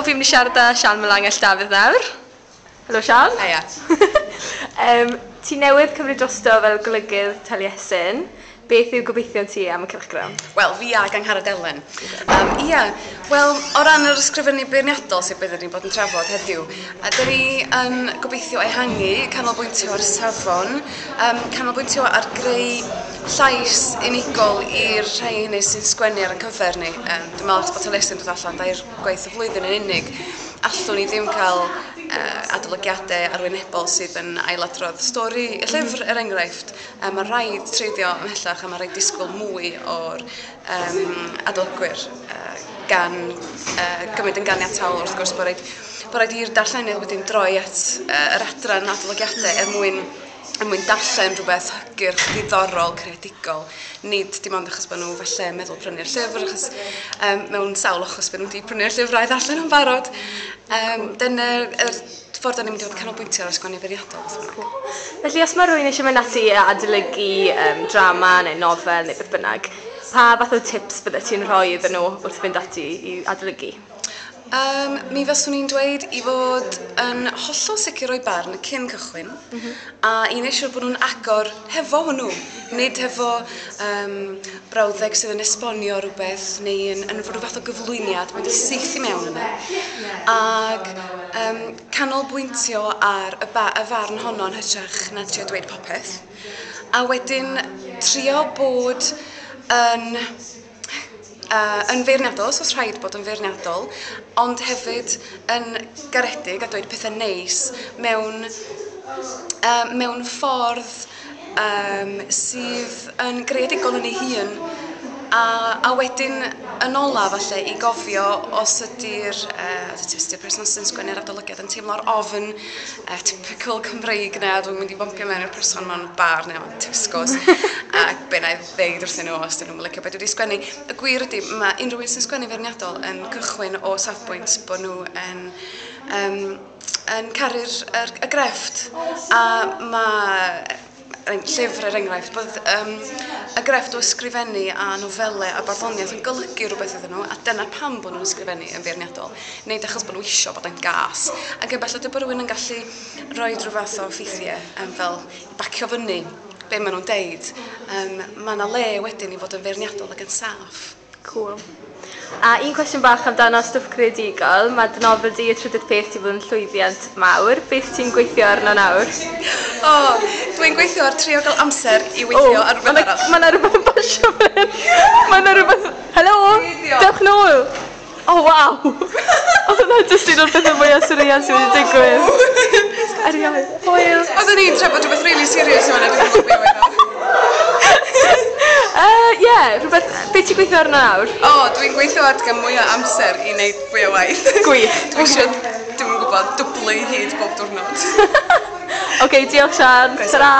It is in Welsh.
fi'n mynd i siarad â Sian Melangell Dafydd nawr. Helo Sian. Haia. Ti newydd cymryd drosto fel golygydd Taliesin. Beth yw gobeithion ti am y cylchgrawn? Wel, fi ag Angharad Elen. Ia, wel, o ran yr ysgrifennu beirniadol sydd beth ni'n bod yn trafod heddiw, a dyn ni yn gobeithio ehangu, canolbwyntio ar safon, canolbwyntio ar greu llais unigol i'r rhai hynny sy'n sgwennu ar ein cyfer ni. Dwi'n meddwl achos bod Taliesin dod allan dair gwaith y flwyddyn yn unig, allwn ni ddim cael adolygiadau arwynebol sydd yn ailadrodd stori y llyfr, er enghraifft. Mae rhaid treiddio ymhellach a mae rhaid disgwyl mwy o'r adolygwyr gan gymryd yn ganiataol wrth gwrs bod rhaid i'r darllenydd wedyn droi at yr adran adolygiadau er mwyn darllen rhywbeth hygyrch, diddorol, creadigol, nid dim ond achos bod nhw falle meddwl prynu'r llyfr, achos mewn sawl achos bod nhw wedi prynu'r llyfr a'i ddarllen yn barod. Dyna'r ffordd da ni'n mynd i fod yn canolbwyntio ar ysgrifennu beirniadol. Felly os mae rhywun eisiau mynd ati i adolygu drama neu nofel neu beth bynnag, pa fath o tips byddet ti'n rhoi iddyn nhw wrth fynd ati i adolygu? Mi faswn i'n dweud i fod yn hollol sicr o'i barn cyn cychwyn, a i wneud siŵr bod nhw'n agor hefo hwnnw, nid hefo brawddeg sydd yn esbonio rhywbeth neu yn rhyw fath o gyflwyniad, mynd syth i mewn yna. Ac canolbwyntio ar y farn honno yn hytrach na trio dweud popeth. A wedyn trio bod yn feirniadol, os oes rhaid bod yn feirniadol, ond hefyd yn garedig a dweud pethau neis mewn ffordd sydd yn greadigol yn ei hun, a wedyn yn ola falle i gofio os ydy'r person sy'n sgwennu'r adolygiad yn teimlo'r ofn typical Cymreig na, dwi'n mynd i bompio mewn i'r person mewn bar neu mewn Tesco's a be na i ddeud wrthyn nhw os dyn nhw'n licio beth dwi wedi sgwennu. Y gwir ydy, mae unrhyw un sy'n sgwennu feirniadol yn cychwyn o safbwynt bod nhw yn caru'r y grefft, a mae llyfr er enghraifft, bod y grefft o ysgrifennu a nofelau a barddoniaeth yn golygu rhywbeth iddyn nhw, a dyna pam bod nhw'n ysgrifennu yn feirniadol, nid achos bod nhw isio bod yn gas. Ac efallai bod rhywun yn gallu rhoi rhyw fath o ffeithiau fel bacio fyny be maen nhw'n deud. Mae yna le wedyn i fod yn feirniadol ac yn saff. Cool. A un cwestiwn bach amdano stwff creadigol, mae dy nofel di, Y Trydydd Peth, 'di bod yn llwyddiant mawr. Beth ti'n gweithio arno nawr? O, dwi'n gweithio ar trio gael amser i weithio ar rhywbeth arall. Mae yna rhywbeth yn pasio fan hyn. Mae yna rhywbeth... Helo! Dewch nôl! O, waw! Oedd hwnna jyst un o'r pethau mwyaf surreal sydd wedi digwydd. Erioed. Hwyl! Oeddwn i'n trafod rhywbeth really serious yma, dwi'n gwybod beth oedd o. Ie, rhywbeth... Be ti'n gweithio arno nawr? O, dwi'n gweithio ar gael mwy o amser i wneud fwy o waith. Gwych. Dwi eisiau, dwi'm yn gwybod, dwblu hyd bob diwrnod. Oce, diolch Sian. Ta-ra!